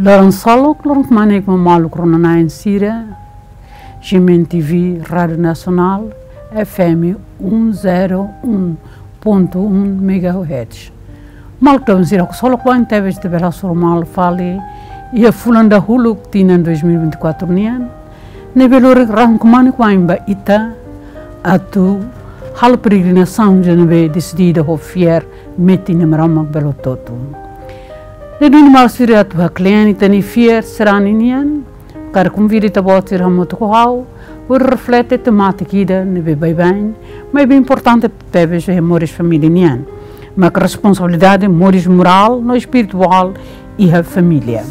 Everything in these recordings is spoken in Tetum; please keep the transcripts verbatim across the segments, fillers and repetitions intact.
Loron ksolok, loron kmanek ba maluk rona-na'in sira, G M N T V Rádiu Nasionál, F M um zero um ponto um megahertz. Maluk doben sira, ksolok wa'in tebes ita bele hasoru malu fali iha fulan dahuluk tinan dois mil e vinte e quatro nian, ne'ebé loron rahun kmanek wa'in ba ita atu halo peregrinasaun ida ne'ebé desidida ho fiar metin Maromak bele hotu-hotu. Ne'e duni maluk sira, atu haklean ita-nia fiar sarani nian, hakarak konvida ita-boot sira hamutuk ho ha'u hodi reflete temátika ida ne'ebé baibain, maibé importante tebes iha moris família nian, mak responsabilidade moris morál no espirituál iha família.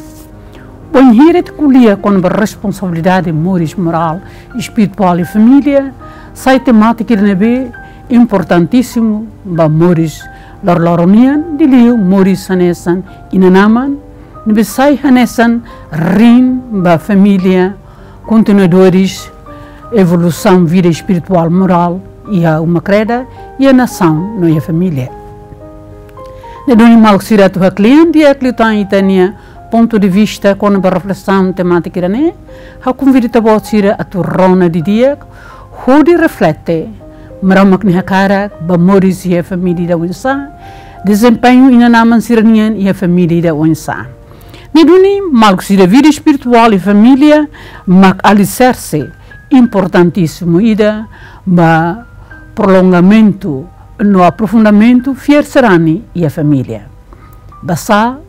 Bainhira ita ko'alia kona-ba responsabilidade moris morál, espirituál iha família, sai temátika ida ne'ebé importantísimu ba moris loroloron nian, liuliu moris hanesan inan-aman, ne'ebé sai hanesan rin ba família, kontinuadores evolusaun vida espirituál, morál iha uma kreda, iha nasaun no iha família. Ne'e duni maluk sira, atu haklean di'ak liután ita-nia pontu de vista kona-ba reflesaun temátika ida-ne'e, ha'u konvida ita-boot sira atu rona didi'ak hodi reflete Maromak nia hakarak ba moris iha família ida oinsá, dezempeñu inan-aman sira-nian iha família ida oinsá. Ne'e duni maluk sira, vida espirituál iha família mak aliserse importantísimu ida ba prolongamentu no aprofundamentu fiar sarani iha família. Basá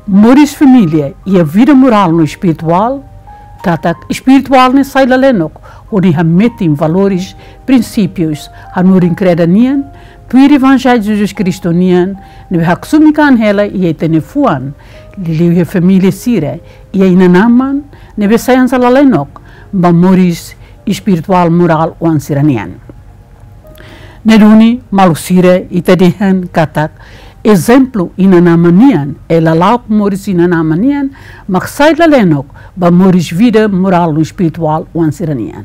moris família iha vida morál no espirituál, katak espirituál ne'e sai lalenok hodi hametin valores, prinsípius, hanorin kreda nian, tuir Evanjellu Jesus Kristu nian, ne'ebé haksomi kan hela iha ita-nia fuan, liuliu iha família sira, iha inan-aman, ne'ebé sai hanesan lalenok ba moris espirituál morál oan sira-nian. Ne'e duni maluk sira, ita dehan katak ezemplu inan-aman nian, eh, lala'ok moris inan-aman nian, mak sai lalenok ba moris vida morál no espirituál oan sira-nian.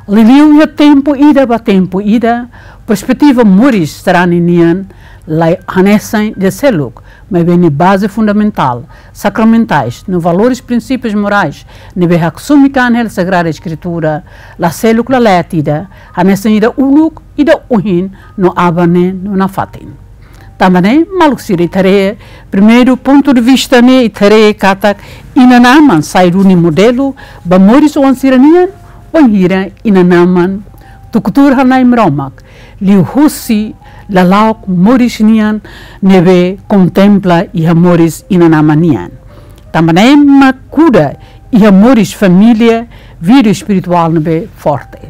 Liuliu iha tempu ida ba tempu ida, perspetiva moris sarani nian la hanesan ida seluk, maibé nia baze fundamentál, sakramentais, no valores, prinsípius morais ne'ebé haksomi kan hela Sagrada Eskritura, la seluk, la leet ida, hanesan ida uluk, ida ohin, no aban-ne'e no nafatin. Tanba ne'e maluk sira, ita haree primeiru pontu de vista ne'e, ita haree katak inan-aman sai duni modelu ba moris oan sira-nian, bainhira inan-aman tuku tuur hana'i Maromak liuhosi lala'ok moris nian ne'ebé kontempla iha moris inan-aman nian. Tanba ne'e mak kuda iha moris família vida espirituál ne'ebé forte.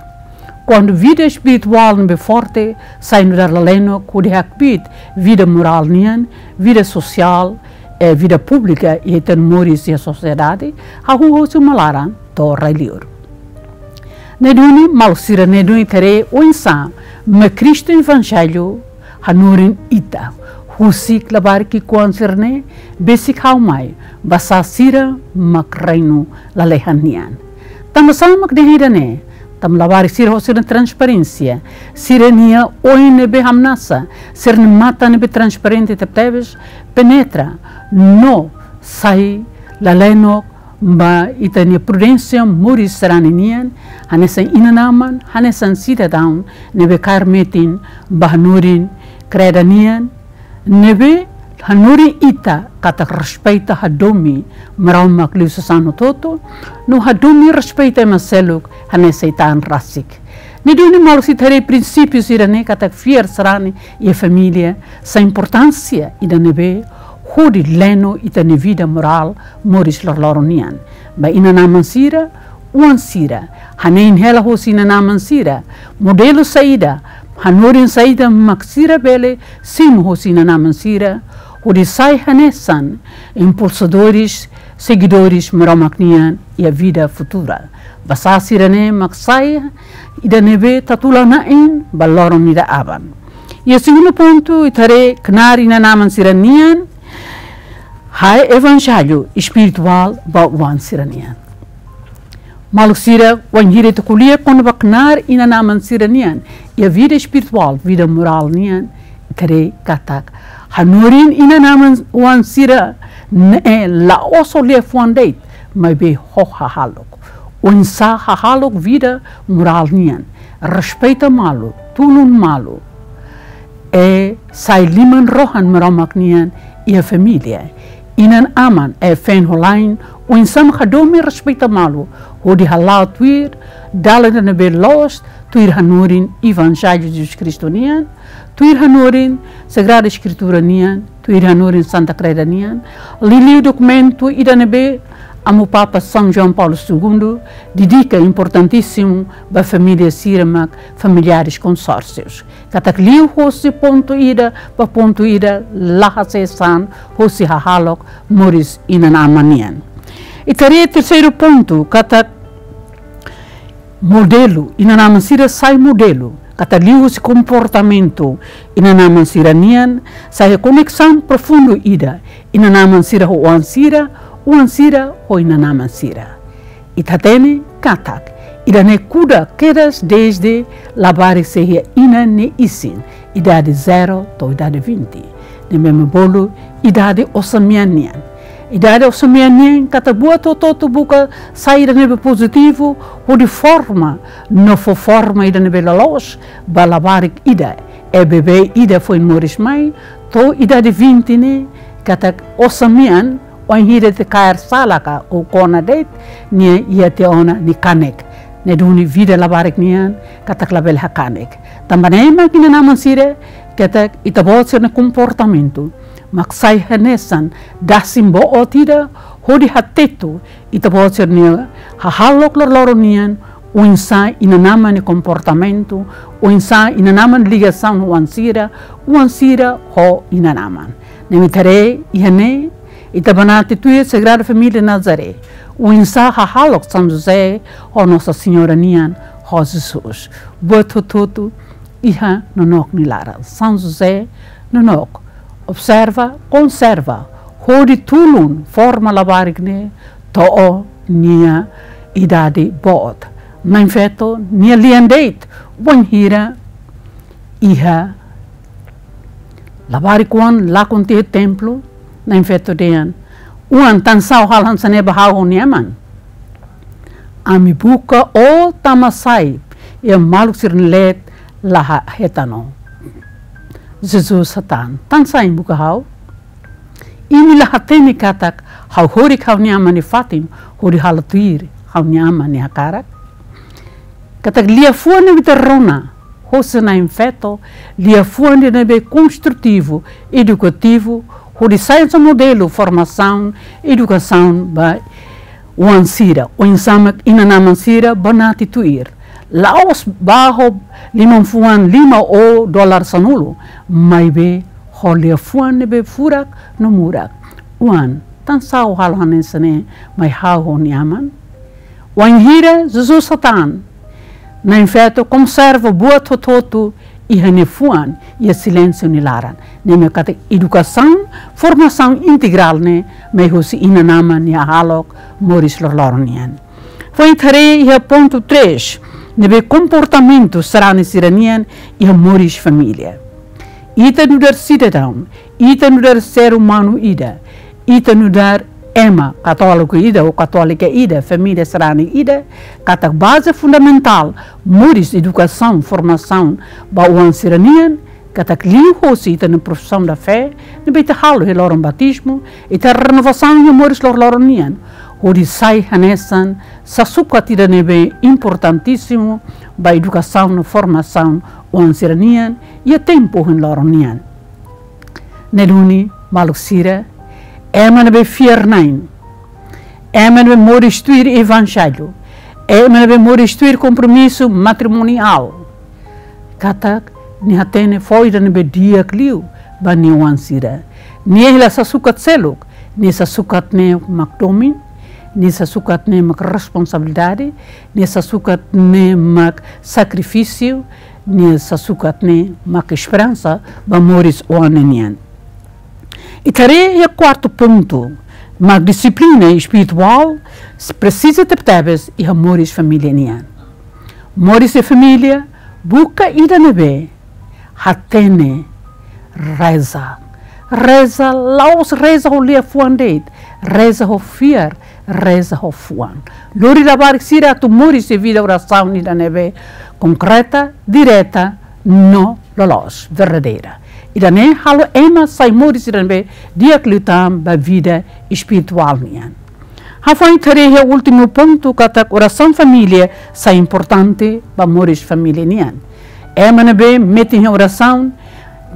Kuandu vida espirituál ne'ebé forte, sai nu'udar lalenok hodi hakbiit vida morál nian, vida sosiál, eh, vida públika iha ita-nia moris iha sosiedade, hahú husi uma laran to'o rai-liur. Ne'e duni maluk sira, ne'e duni ita haree oinsá mak Kristu Evanjellu hanorin ita, husik labarik ki'ikoan sira-ne'e, besik ha'u mai, basá sira mak reinu lalehan nian. Tanba sá mak dehan ida-ne'e? Tanba labarik sira ho sira-nia transparénsia, sira-nia oin ne'ebé hamnasa, sira-nia matan ne'ebé transparente tebetebes, penetra no sai lalenok ba ita-nia prudénsia moris sarani nian, hanesan inan-aman, hanesan sidadaun ne'ebé kaer metin ba hanorin kreda nian, ne'ebé hanorin ita katak respeita, hadomi Maromak liuhusi sasán hotu-hotu, no hadomi, respeita ema seluk hanesan ita-nia an rasik. Ne'e duni maluk sira, ita haree prinsípiu sira-ne'e, katak fiar sarani iha família sai importánsia ida ne'ebé hodi leno ita-nia vida morál moris loroloron nian. Ba inan-aman sira, oan sira, hanein hela hosi inan-aman sira, modelu saida, hanorin saida mak sira bele simu hosi inan-aman sira, hodi sai hanesan impulsadores, seguidores Maromak nian iha vida futura. Basá sira-ne'e mak sai ida ne'ebé tatu la na'in ba loron ida aban. Iha segundu pontu, ita haree knaar inan-aman sira-nian, ha'e evanjellu espirituál ba oan sira-nian. Maluk sira, wainhira ita ko'alia kona-ba knaar inan-aman sira-nian iha vida espirituál, vida morál nian, ita haree katak hanorin inan-aman oan sira Ne'e la'ós ho liafuan de'it, maibé ho hahalok. Oinsá hahalok vida morál nian, respeita malu, tulun malu. I sai liman-rohan Maromak nian iha família. Inan-aman, i feen-holan, oinsá mak hadomi respeita malu, hodi hala'o tuir dalan ida ne'ebé loos, tuir hanorin Evanjellu Jesus Kristu nian, tuir hanorin Sagrada Eskritura nian, tuir hanorin Santa Kreda nian, liuliu dokumentu ida ne'ebé Amu Papa São João Paulo Segundo dedika importantísimu ba família sira mak familiares consórcios. Katak liu hosi pontu ida ba pontu ida la hasees an hosi hahalok moris inan-aman nian. Ita haree terseiru pontu, katak modelu, inan-aman sira sai modelu, katak liu hosi komportamentu inan-aman sira nian, sai koneksaun profundu ida, inan-aman sira ho oan sira, oan sira ho inan-aman sira. Ita hatene katak ida-ne'e kuda kedas dezde labarik sei iha inan nia isin, idade zero to'o idade vinte. Ne'ebé mak bolu idade osan-mean nian. Idade osan-mean nian katak buat hotu-hotu buka sai ida ne'ebé pozitivu, hodi forma no fó forma ida ne'ebé loloos ba labarik ida. I bebé ida foin moris mai, to'o idade vinte ne'e, katak osan-mean, wainhira ita kaer sala ka ou kona de'it, nia iha tiha ona nia kanek. Ne'e duni vida labarik nian, katak labele hakanek. Tanba ne'e mak inan-aman sira, katak ita-boot sira-nia komportamentu mak sai hanesan dasin boot ida, hodi hateten ita-boot sira-nia hahalok loroloron nian, oinsá inan-aman nia komportamentu, oinsá inan-aman ligasaun oan sira, oan sira ho inan-aman. Ne'e mak ita haree iha ne'e, ita banati tuir Sagrada Família Nazaré, oinsá hahalok São José ho Nossa Senhora nian, ho Jesus. Buat hotu-hotu iha nonook nia laran. São José nonook observa, konserva, hodi tulun forma labarik ne'e to'o nia idade boot. Na'in-feto nia lian de'it, wainhira iha labarik-oan lakon tiha templu, Na'in-feto dehan: Oan, tansá ó halo hanesan ne'e ba ha'u ho ha'u-nia aman? Ami buka ó tama sai, iha maluk sira-nia leet la ha-, hetan ó. Jesus hatán: Tansá imi buka ha'u? Imi la hatene katak ha'u horik ha'u-nia Aman nia fatin hodi halo tuir ha'u-nia Aman nia hakarak? Katak liafuan ne'ebé ita rona hosi Na'in-feto, liafuan ida ne'ebé konstrutivu, edukativu, hodi sai hanesan modelu formasaun, edukasaun ba oan sira, oinsá mak inan-aman sira banati tuir. La'ós bá ho liman-fuan lima ou dolar sanulu, maibé ho liafuan ne'ebé furak no murak. Oan, tansá ó halo hanesan ne'e mai ha'u ho ha'u-nia aman? Wainhira Jesus hatán, Na'in-feto konserva buat hotu-hotu iha nia fuan, iha silénsiu nia laran. Ne'e mak katak edukasaun, formasaun integrál ne'e mai hosi inan-aman nia hahalok moris loroloron nian. Foin ita haree iha pontu três, ne'ebé komportamentu sarani sira-nian iha moris família. Ita nu'udar sidadaun, ita nu'udar ser umanu ida, ita nu'udar ema katóliku ida ou katólika ida, família sarani ida, katak baze fundamentál moris, edukasaun, formasaun ba oan sira-nian, katak liuhosi ita-nia profissão da fé, ne'ebé ita halo iha loron batizmu, ita renovasaun iha moris loroloron nian, hodi sai hanesan sasukat ida ne'ebé importantísimu ba edukasaun no formasaun oan sira-nian iha tempu ohin loron nian. Ne'e duni, maluk sira, ema ne'ebé fiar-na'in, ema ne'ebé moris tuir Evanjellu, ema ne'ebé moris tuir kompromisu matrimoniál, katak nia hatene fó ida ne'ebé di'ak liu ba nia oan sira. Nia hela sasukat seluk, nia sasukat ne'e mak domin, nia sasukat ne'e mak responsabilidade, nia sasukat ne'e mak sakrifísiu, nia sasukat ne'e mak esperansa ba moris oan nian. Ita haree iha kuartu pontu, mak dixiplina espirituál presiza tebetebes iha moris família nian. Moris iha família buka ida ne'ebé hatene reza, Reza, la'ós reza ho liafuan de'it, reza ho fiar, reza ho fuan. Lori labarik sira atu moris iha vida orasaun ida ne'ebé konkreta, direta, no loloos, verdadeira. Ida-ne'e halo ema sai moris ida ne'ebé di'ak liután ba vida espirituál nian. Hafoin ita haree iha últimu pontu katak orasaun família sai importante ba moris família nian. Ema ne'ebé metin iha orasaun,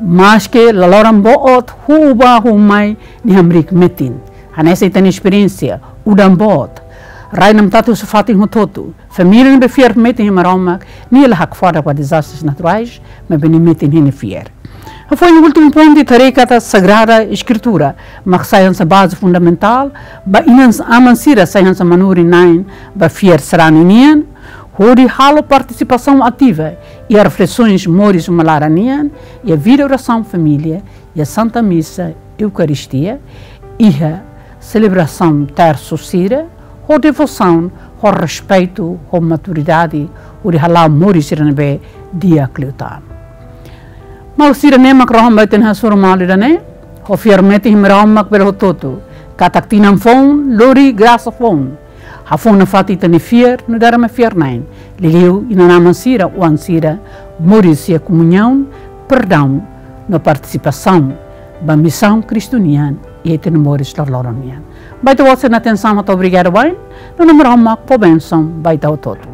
maske laloran boot, huu bá huu mai, nia hamriik metin. Hanesan ita-nia esperiénsia, udan boot, rai namtatu husu fatin hotu-hotu. Família ne'ebé fiar metin iha Maromak, nia la hakfodak ba dezastres naturais, maibé nia metin iha nia fiar. Hafoin últimu pontu ita haree katak Sagrada Eskritura mak sai hanesan baze fundamentál ba inan-aman sira sai hanesan manorin-na'in ba fiar sarani nian, hodi halo partisipasaun ativa iha reflesoens moris uma laran nian, iha vida orasaun família, iha Santa Misa, Eukaristia, iha selebrasaun tersu sira, ho devosaun, ho respeitu, ho maturidade, hodi hala'o moris sira ne'ebé di'ak liután. Maluk sira, ne'e mak rohan ba ita-nia hasoru malu ida-ne'e, ho fiar metin iha Maromak bele hotu-hotu, katak tinan foun lori grasa foun, hafoun nafatin ita-nia fiar, nu'udar ema fiar-na'in, liuliu inan-aman sira, oan sira, moris iha komuñaun, perdaun, no partisipasaun ba misaun Kristu nian iha ita-nia moris loroloron nian. Ba ita-boot sira-nia atensaun, atu obrigadu wa'in, no Maromak fó bensaun ba ita hotu-hotu.